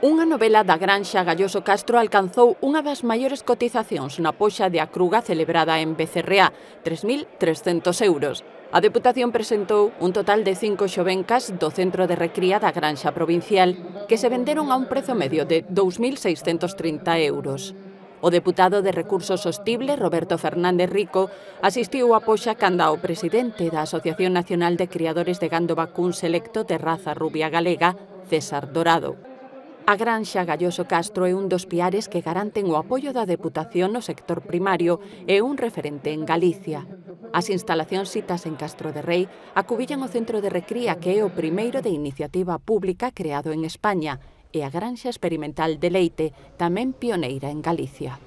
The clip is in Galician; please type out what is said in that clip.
Unha novela da Granxa Galloso Castro alcanzou unha das maiores cotizacións na poxa de Acruga celebrada en Becerreá, 3.300 euros. A Deputación presentou un total de 5 xovencas do centro de recría da Granxa Provincial que se venderon a un prezo medio de 2.630 euros. O deputado de Recursos Sostible, Roberto Fernández Rico, asistiu á poxa canda o presidente da Asociación Nacional de Criadores de Gando Vacún Selecto de raza rubia galega, César Dorado. A Granxa Galloso Castro é un dos piares que garanten o apoio da Deputación no sector primario e un referente en Galicia. As instalacións citas en Castro de Rei acubillan o centro de recría que é o primeiro de iniciativa pública creado en España e a Granxa Experimental de Leite, tamén pioneira en Galicia.